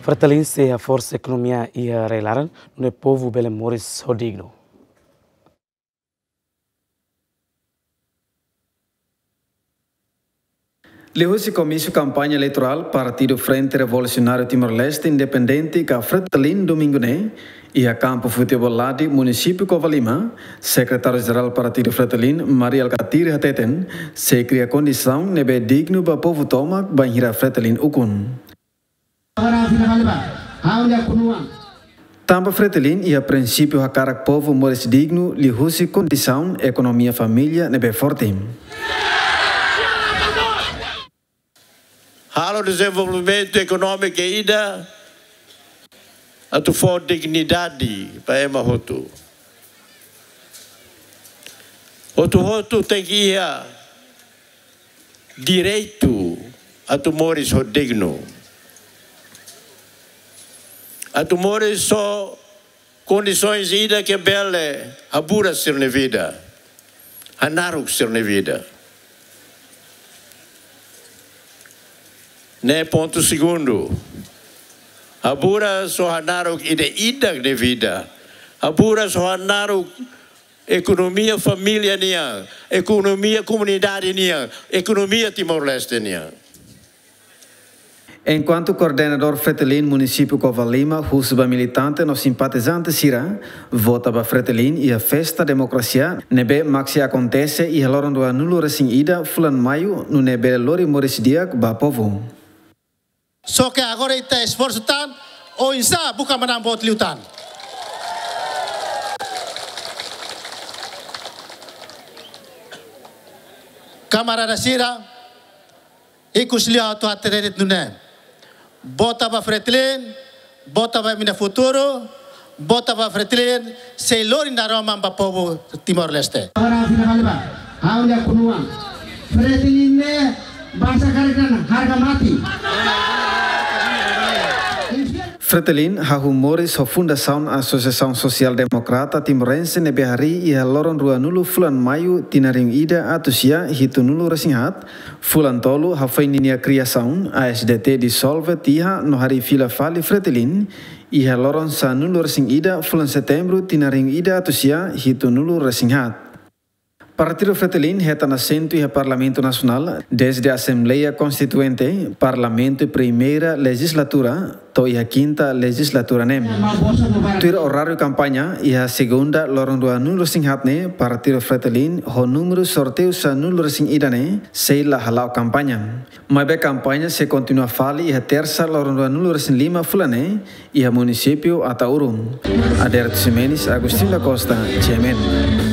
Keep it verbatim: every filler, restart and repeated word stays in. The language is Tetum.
Fretilin sei haforsa ekonomia iha rai-laran, nune'e povu bele moris ho dignu. Liuhusi komísiu kampaña eleitorál Partidu Frente Revolusionáriu Timor-Leste Independente ka Fretilin domingu ne'e, iha kampu futeból Ladi, munisípiu Covalima, Sekretáriu Jerál Partidu Fretilin, Mari Alkatiri hateten, sei kria kondisaun ne'ebé dignu ba povu tomak bainhira Fretilin ukun. Tanba Fretilin iha prinsípiu hakarak povu moris dignu liuhusi kondisaun ekonomia família ne'ebé forte. Halo dezenvolvimentu ekonómiku ida atu fó dignidade ba ema hotu. Hotu-hotu tenke iha direitu atu moris ho dignu. Atu moris ho kondisoens ida ke bele haburas sira-nia vida, hanaruk sira-nia vida. Ne'e pontu segundu. Haburas ho hanaruk ida-idak nia vida. Haburas ho hanaruk ekonomia família nian, ekonomia komunidade nian, ekonomia Timor-Leste nian. Enkuantu koordenadór Fretilin munisípiu Covalima husu ba militante no simpatizante sira vota ba Fretilin iha festa demokrasia ne'ebé mak sei akontese iha loron ruanulu-resin-ida fulan Maiu, nune'e bele lori moris di'ak ba povu. Só ke agora ita esforsu tan, oinsá buka manán boot liután. Kamarada sira, ikus liu atu hatete de'it nune'e. Vota ba Fretilin, vota ba imi-nia futuru, vota ba Fretilin, sei lori naroman ba povu Timor-Leste. Agora, fila fali ba, ha'u-nia kunuan. Fretilin ne'e, basa karik dan harga mati. Fretilin hahú moris ho fundasaun Asosiasaun Sosiál Demokrata Timorense ne'ebé harii iha loron ruanulu fulan Maiu tinan rihun ida atus sia hitunulu-resin-haat, fulan tolu hafoin ninia kriasaun, A S D T disolve tiha no harii fila fali Fretilin iha loron sanulu-resin-ida fulan Setembru tinan rihun ida atus sia hitunulu-resin-haat. Partidu Fretilin hetan asentu iha Parlamentu Nasionál dezde Asembleia Konstituinte, Parlamentu Primeira Lejizlatura, to'o iha Kinta Lejizlatura ne'e. Tuir oráriu kampaña, iha Segunda, loron ruanulu-resin-haat ne'e, Partidu Fretilin ho númeru sorteiu sanulu-resin-ida ne'e sei la hala'o kampaña. Maibé kampaña sei kontinua fali iha Tersa, loron ruanulu-resin-lima fulan ne'e, iha munisípiu Ataúro. Aderto Ximenes, Agostinho da Costa, G M N.